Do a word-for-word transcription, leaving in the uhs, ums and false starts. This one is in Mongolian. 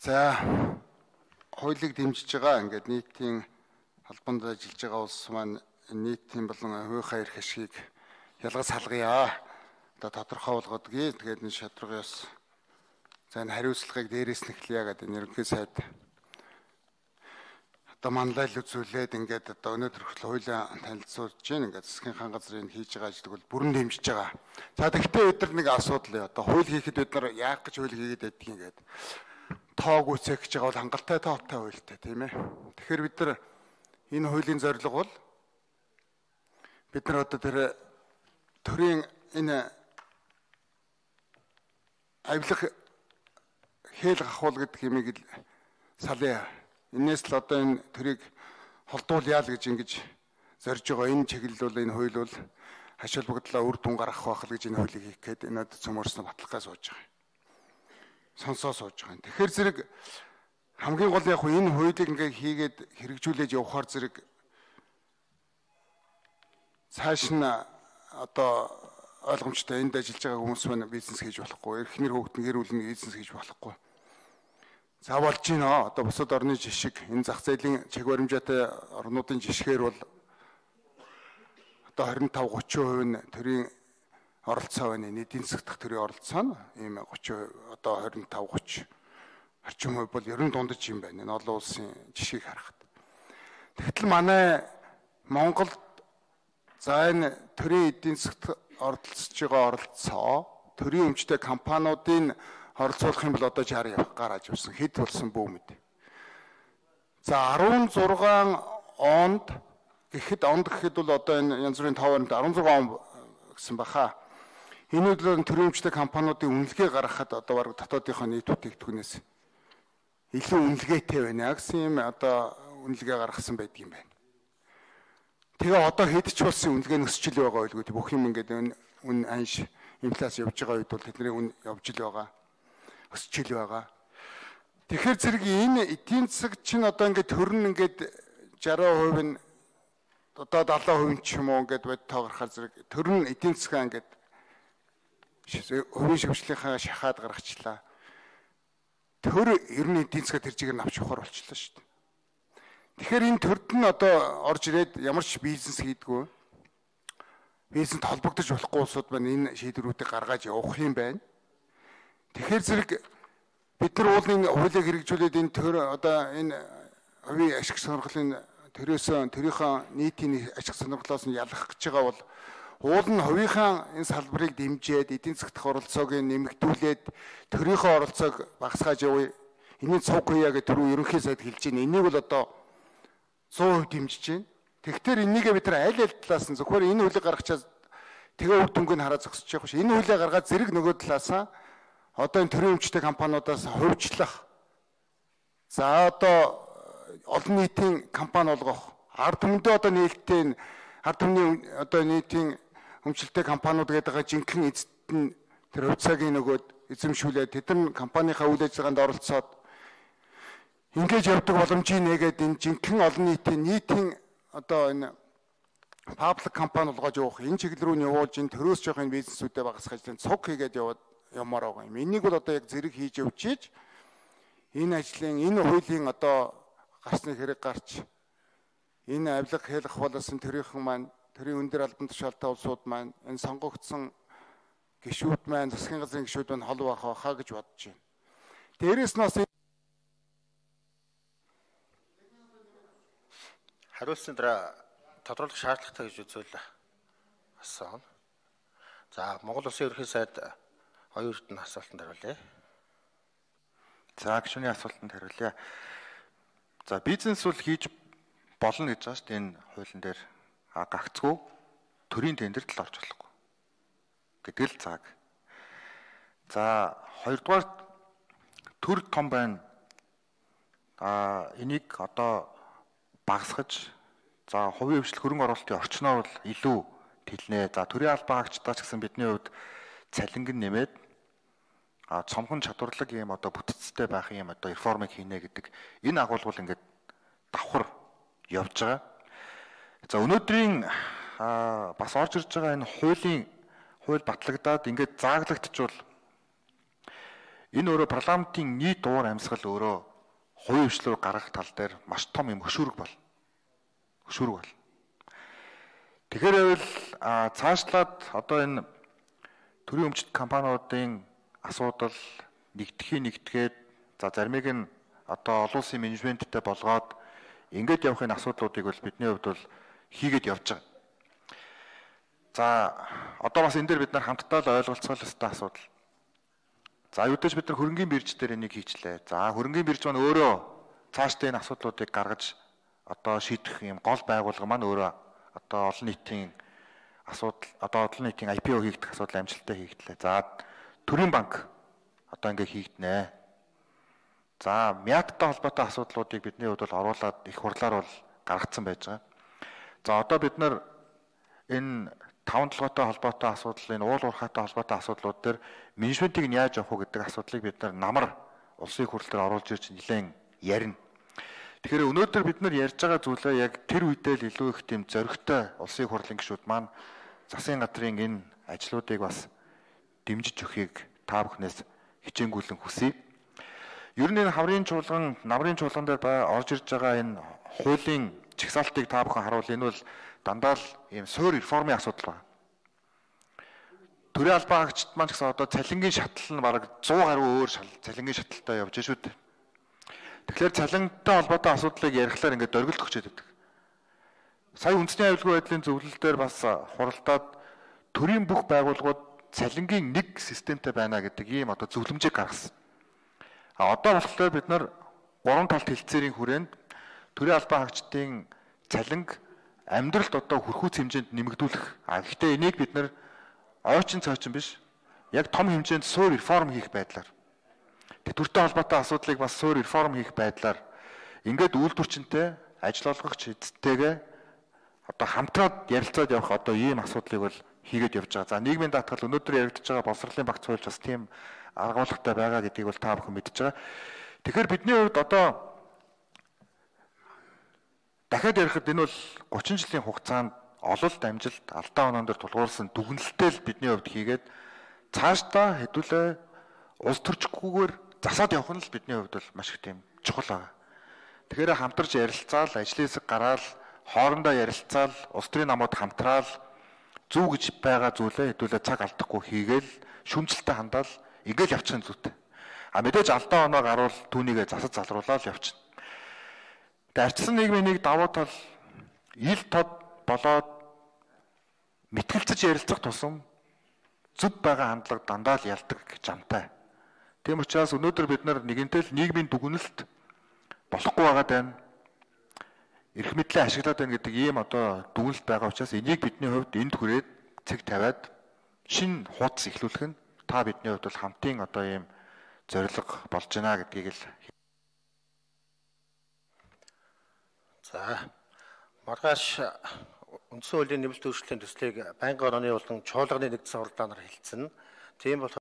За хуулийг дэмжиж байгаа ингээд нийтийн албанд ажиллаж байгаа улс маань нийтийн болон хувийнхаа эрх ашгийг ялгаж салгая. Одоо тодорхой болгодгийг тэгээд энэ шатргаас за энэ хариуцлагыг дээрээс нь эхлэе гэдэг энэ ерөнхий сайд одоо манлайл үзүүлээд ингээд одоо өнөөдөр хүртэл хуулийн танилцуулж байна. Ингээд засгийн хаан газрын хийж байгаа ажлыг бол бүрэн дэмжиж байгаа. За тэгвэл бид нар нэг асуудал одоо хууль хийхэд бид нар яах гэж хууль хийгээд байдгийг ингээд тоог үцэх гэж байгаа бол хангалттай тоотой хуультай тийм ээ. Тэгэхээр бид нар энэ хуулийн зорилго бол бид нар одоо тэр төрийн энэ авилах хэл гахуул гэдэг юмыг салъя. Инээс л одоо энэ төрийг холдуулъя л гэж ингэж зорж байгаа. Энэ чиглэл бол энэ хууль бол хаш холбогдлоо үр дүн гаргах байх л гэж энэ хуулийг хийх гээд энэ цөмөрснө баталгаа сууж байгаа. Сонсоо сууж байгаа. Тэгэхээр зэрэг хамгийн гол яг энэ хуулийг ингээ хийгээд хэрэгжүүлээд явахаар зэрэг цааш нь одоо ойлгомжтой энд ажиллаж байгаа хүмүүс маань бизнес хийж болохгүй, эрхнэр хөөгдөн гэр бүлийн бизнес хийж болохгүй. За болж байна. Одоо бусад орны жишг энэ зах зээлийн чиг баримжаатай орнуудын жишгээр бол одоо двадцать пять тридцать хувь нь төрийн оролцоо байна. Эдийн засаг дахь төрийн оролцоо нь ийм тридцать одоо двадцать пять тридцать орчим хувь бол ерөн дундаж юм байна. Энэ олон улсын жишгийг харахад. Тэгтэл манай Монголд за энэ төрийн эдийн засагт оролцож байгаа оролцоо төрийн өмчтэй компаниудын оролцуулах юм бол одоо шаард гараад явсан хэд болсон бөөмөд. За16 онд гэхэд онд гэхэд бол одоо энэ янз бүрийн товоонд16 он гэсэн баха. Энэ үеийн төрийн өмчтэй компаниудын үнэлгээ гаргахад одоо баг дотоодынхоо нийт бүтээгдэхүүнээс илүү үнэлгээтэй байна гэсэн юм одоо үнэлгээ гаргасан байдаг юм байна. Тэгээ одоо хэд ч болсон үнэлгээ нөсчл байгаа байлгүй бүх юм ингээд үн анш инфляц явж байгаа үед бол тэдний үн явж л байгаа. Өсчил байгаа. Тэгэхээр зэрэг энэ эдийн засаг чинь одоо ингээд төрн ингээд шестьдесят хувь нь одоо семьдесят хувь ч юм уу ингээд бод тоогорхоор зэрэг төрн эдийн засгаа ингээд хувийн шивжлийнхаа шахаад гаргачлаа. Төр ер нь эдийн засгаа тэр чигээр нь авч явахаар болчихлоо шүү дээ. Тэгэхээр энэ төрд нь одоо орж ирээд ямар ч бизнес хийдгүү бизнесд холбогдож болохгүй улсууд маань энэ шийдвэрүүдийг гаргаж явах юм байна. Тэгэхээр зэрэг бид нар уулын хуулийг хэрэгжүүлээд энэ төр одоо энэ хувийн ашиг сонирхлын төрөөсөө төрийнхөө нийтийн ашиг сонирхлоос нь ялгах гэж байгаа бол уул нь хувийнхаа энэ салбарыг дэмжиж эдийн засгт оролцоог нэмэгдүүлээд төрийнхөө оролцоог багасгааж явъя. Энийг цуг хийя гэж түрүү ерөнхий сайд хэлж байна. Энийг бол одоо сто хувь дэмжиж байна. Тэгэхээр энийгээ бид нар аль аль талаас нь зөвхөн энэ хуулийг гаргачаад тэгээ үр дүнг нь хараа зогсож явах ш. Энэ хуулийг гаргаад зэрэг нөгөө талаасаа одоо энэ төрийн өмчтэй компаниудаас хувьчлах. За одоо олон нийтийн компани болгох. Ард түмэндээ одоо нээлттэй ард түмний одоо нийтийн өмчлөлтэй компаниуд гэдэг байгаа жинхэнэ эзэд нь тэр хувьцаагийн нөгөөд эзэмшүүлээд тэдэн компанийнхаа үйл ажиллагаанд оролцоод ингэж явдаг боломжийг нэгээд энэ жинхэнэ олон нийтийн нийтийн одоо энэ паблик компани болгож явах энэ чиглэл рүү нь явуулж энэ төрөөс жоох энэ бизнесүүдэд багасгаж энэ цуг хийгээд яваад ямар байгаа юм. Энийг бол одоо яг зэрэг хийж явчиж энэ ажлын энэ хуулийн одоо гарсны хэрэг гарч энэ авилга хэлэх болоосон төрийнхэн маань төрийн өндөр албан тушаалтай улсууд маань энэ сонгогдсон гишүүд маань засгийн газрын гишүүд маань хол байх байхаа гэж бодож байна. Дээрээс нь бас хариулсан дараа тодруулах шаардлагатай гэж үзвэл асуусан. За Монгол Улсын ерөнхий сайд хоёр эрдэнэ асуултанд хариулъя. За гишүүний асуултанд хариулъя. За бизнес бол хийж болно гэж байгаа шүү дээ энэ хуулийн дээр гагцгүй төрийн тендерт л орж болохгүй гэдэг л цаг. За хоёрдугаар төр том байна. А энийг одоо багасгаж за хувийн хвшлэх хөрөнгө оруулалтын орчноор бол илүү тэлнэ. За төрийн албан хаагчдаа ч гэсэн бидний хувьд цалинг нь нэмээд а цомхон чадварлаг юм одоо бүтцтэй байх юм одоо реформыг хийнэ гэдэг энэ агуулгал ингээд давхар явж байгаа. За өнөөдрийн бас орж ирж байгаа энэ хуулийн хууль батлагдаад ингээд зааглагдчихвал Энэ өөрөө парламентын нийт уур амьсгал өөрөө хувийн хвшлүүд гаргах тал дээр маш том юм хөшүүрэг бол. Хөшүүрэг бол. Тэгэхээр байвал цаашлаад одоо энэ төрийн өмчт компаниудын асуудал нэгдэхий нэгдгээд за заримыг нь одоо олон улсын менежменттэй болгоод ингээд явах энэ асуудлуудыг бол бидний хувьд бол хийгээд явж байгаа. За одоо бас энэ дээр бид нар хамтдаа л ойлголцох ёстой асуудал. За юудаж бид нар хөрөнгийн бирж дээр энийг хийчлээ. За хөрөнгийн бирж маань өөрөө цаашдаа энэ асуудлуудыг гаргаж одоо шийдэх юм гол байгууллага маань өөрөө одоо олон нийтийн асуудал одоо олон нийтийн ай пи о хийгдэх асуудал амжилттай хийгдлээ. За төрийн банк одоо ингээ хийгднэ. За мяттай холбоотой асуудлуудыг бидний хувьд бол оруулаад их хурлаар бол гаргацсан байж байгаа. За одоо бид нар энэ таван толгойтой холбоотой асуудал, энэ уул уурхайтай холбоотой асуудлууд дээр менежментийг нь яаж явах вэ гэдэг асуудлыг бид нар намар улсын хурл дээр оруулж ирж нэлээд ярина. Тэгэхээр өнөөдөр бид нар ярьж байгаа зүйлээ яг тэр үедээ л илүү их тийм зоригтой улсын хурлын гишүүд маань засгийн газрын энэ ажлуудыг бас дэмжиж өгөхийг та бүхнээс хичээнгүйлэн хүсье. Ер нь энэ хаврын чуулган, намрын чуулган дээр орж ирж байгаа энэ хуулийн чагсаалтыг та бүхэн харуул энэ бол дандаа л ийм суур реформын асуудал байна. Төрийн албан хаагчид маань гэсэн одоо цалингийн шатлал нь бараг сто гаруй өөр цалингийн шатлалтай явж шүү дээ. Тэгэхээр цалинтай холбоотой асуудлыг ярихлаар ингээд дөргөлт өгчээд байдаг. Сая үндэсний аюулгүй байдлын зөвлөл дээр бас хуралдаад төрийн бүх байгууллагууд цалингийн нэг системтэй байна гэдэг ийм одоо зөвлөмжийг гаргасан. А одоо болохоор бид нар гурван талт хэлцээрийн хүрээнд төрийн албан хаагчдын цалинг амьдралд одоо хүрхүүц хэмжээнд нэмэгдүүлэх. А гэхдээ энийг бид нар ойчин цойчин биш яг том хэмжээнд суур реформ хийх байдлаар төртэй холбоотой асуудлыг бас суур реформ хийх байдлаар ингээд үйлдвэрчэнтэй ажил олгогч эзэдтэйгээ одоо хамтраад ярилцаад явах одоо ийм асуудлыг бол хийгээд явж байгаа. За нийгмийн даатгал өнөөдөр яригдж байгаа боловсролын багц хуульч бас тийм аргуулгатай байгаа гэдгийг бол та бүхэн мэдж байгаа. Тэгэхээр бидний хувьд одоо дахиад ярихад энэ бол гучин жилийн хугацаанд ололт амжилт алдаа оноон дээр тулгуурласан дүгнэлттэй л бидний хувьд хийгээд цаашдаа хэдүүлээ улс төрчгүйгээр засаад явах нь л бидний хувьд бол маш их тийм чухал байгаа. Тэгэхээр хамтарч ярилцаал, ажлын хэсэг гараал, хоорондоо ярилцаал, улс төрийн намууд хамтраал зөв гэж байгаа зүйлээ хэдүүлээ цаг алдахгүй хийгээл шүмжлэлтэй хандаал ингээл явчихын зүйтэй. А мэдээж алдаа оноо гарвал түүнийгээ засаж залруулаад явчихна. Тэгээ арчсан нийгмийн нэг давуу тал ил тод болоод мэтгэлцэж ярилцах тусам зөв байгаа хандлага дандаа л ялдаг гэж амтай. Тийм учраас өнөөдөр бид нар нэгэнтэй л нийгмийн дүгнэлт болохгүй байгаад байна. Эрх мэдлээ ашиглаад байна гэдэг ийм одоо дүгнэлт байгаа учраас энийг бидний хувьд энд хүрээд цэг тавиад шинэ хуудас эхлүүлэх нь та бидний хувьд бол хамтын одоо ийм зорилго болж байна гэдгийг л. За маргааш үндсэн хуулийн нэмэлт өөрчлөлтийн төслийг байнгын орны болон чуулганы нэгдсэн хуралдаанаар хэлсэн. Тийм бол